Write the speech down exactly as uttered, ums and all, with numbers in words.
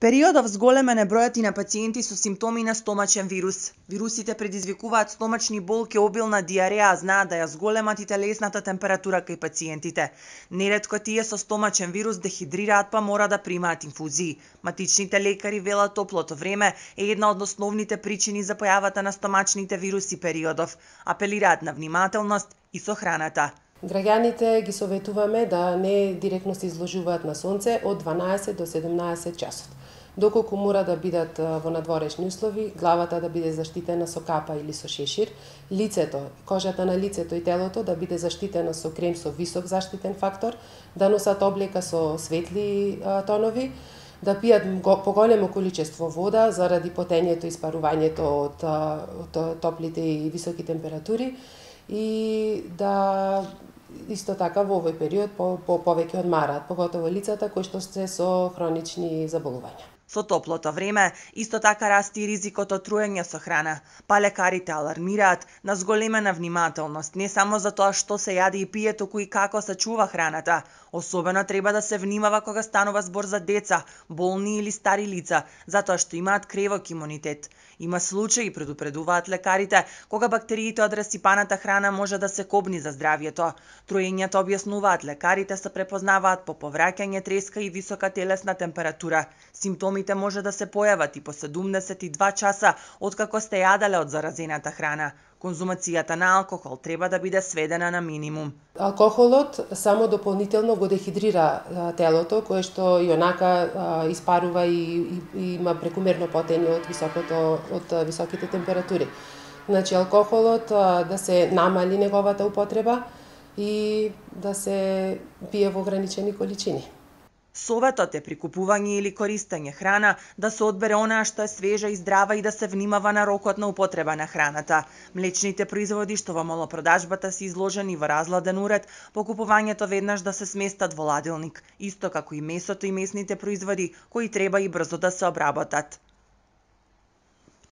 периодов зголемен е бројот и на пациенти со симптоми на стомачен вирус. Вирусите предизвикуваат стомачни болки, обилна диареја, а знаат да ја зголемат и телесната температура кај пациентите. Неретко тие со стомачен вирус дехидрираат па мора да примаат инфузии. Матичните лекари велат топлото време е една од основните причини за појавата на стомачните вируси периодов. Апелираат на внимателност и со храната. Граѓаните ги советуваме да не директно се изложуваат на сонце од дванаесет до седумнаесет часот. Доколку мора да бидат во надворешни услови, главата да биде заштитена со капа или со шешир, лицето, кожата на лицето и телото да биде заштитена со крем со висок заштитен фактор, да носат облека со светли тонови, да пијат поголемо количество вода заради потењето и испарувањето од, од топлите и високи температури и да исто така во овој период по, по повеќе одмараат, поготово лицата кои што се со хронични заболувања. Со топлото време, исто така расте и ризикот од труење со храна, па лекарите алармираат на зголемена внимателност, не само за тоа што се јаде и пие, туку и како се чува храната. Особено треба да се внимава кога станува збор за деца, болни или стари лица, затоа што имаат кревок имунитет. Има случаи, предупредуваат лекарите, кога бактериите од расипаната храна може да се кобни за здравјето. Труењето, објаснуваат лекарите, се препознаваат по повраќање, треска и висока телесна температура. Симптомите може да се појават и по седумдесет и два часа откако сте јаделе од заразената храна. Конзумацијата на алкохол треба да биде сведена на минимум. Алкохолот само дополнително го дехидрира телото, кое што и онака испарува и, и, и има прекумерно потење од високото од високите температури. Значи алкохолот да се намали неговата употреба и да се пие во ограничени количини. Советот е при купување или користење храна да се одбере онаа што е свежа и здрава и да се внимава на рокот на употреба на храната. Млечните производи што во малопродажбата се изложени во разладен уред, по купувањето веднаш да се сместат во ладилник, исто како и месото и месните производи кои треба и брзо да се обработат.